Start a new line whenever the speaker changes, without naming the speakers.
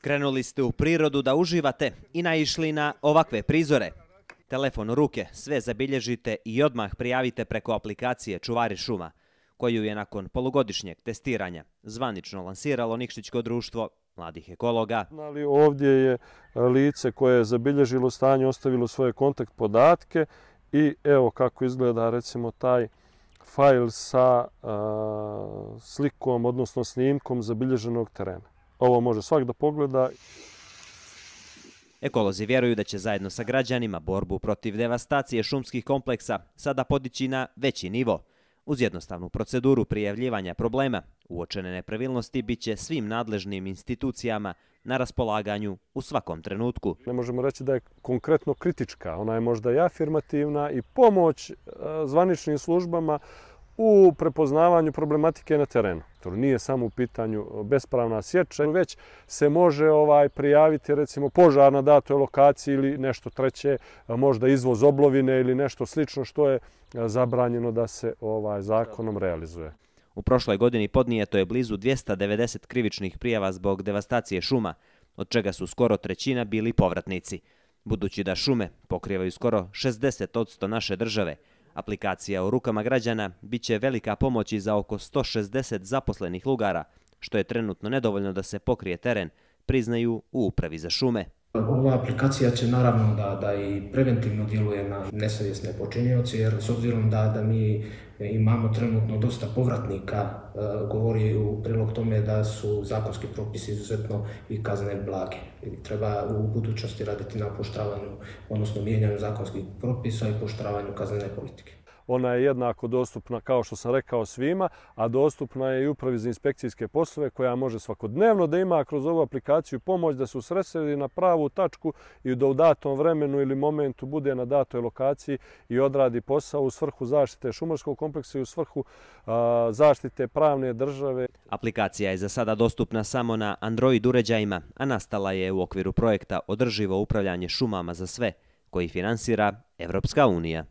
Krenuli ste u prirodu da uživate i naišli na ovakve prizore. Telefon u ruke, sve zabilježite i odmah prijavite preko aplikacije Čuvari šuma, koju je nakon polugodišnjeg testiranja zvanično lansiralo Nikšićko društvo mladih ekologa.
Ovdje je lice koje je zabilježilo stanje, ostavilo svoje kontakt podatke i evo kako izgleda recimo taj fajl sa slikom, odnosno snimkom zabilježenog terena. Ovo može svak da pogleda.
Ekolozi vjeruju da će zajedno sa građanima borbu protiv devastacije šumskih kompleksa sada podići na veći nivo. Uz jednostavnu proceduru prijavljivanja problema, uočene nepravilnosti bit će svim nadležnim institucijama na raspolaganju u svakom trenutku.
Ne možemo reći da je konkretno kritička, ona je možda i afirmativna i pomoć zvaničnim službama u prepoznavanju problematike na terenu. To nije samo u pitanju bespravna sječa, već se može prijaviti recimo požar na datoj lokaciji ili nešto treće, možda izvoz oblovine ili nešto slično što je zabranjeno da se zakonom realizuje.
U prošloj godini podnijeto je blizu 290 krivičnih prijava zbog devastacije šuma, od čega su skoro trećina bili povratnici. Budući da šume pokrivaju skoro 60% naše države, aplikacija u rukama građana bit će velika pomoć i za oko 160 zaposlenih lugara, što je trenutno nedovoljno da se pokrije teren, priznaju u Upravi za šume.
Ova aplikacija će naravno da i preventivno djeluje na nesavjesne počinioce, jer s obzirom da mi imamo trenutno dosta povratnika, govori u prilog tome da su zakonski propisi izuzetno i kazne blage. Treba u budućnosti raditi na pooštravanju, odnosno mijenjanju zakonskih propisa i pooštravanju kaznene politike.
Ona je jednako dostupna, kao što sam rekao, svima, a dostupna je i Upravi za inspekcijske poslove koja može svakodnevno da ima kroz ovu aplikaciju pomoć da se usredsredi na pravu tačku i da u datom vremenu ili momentu bude na datoj lokaciji i odradi posao u svrhu zaštite šumarskog kompleksa i u svrhu zaštite pravne države.
Aplikacija je za sada dostupna samo na Android uređajima, a nastala je u okviru projekta Održivo upravljanje šumama za sve, koji finansira Evropska unija.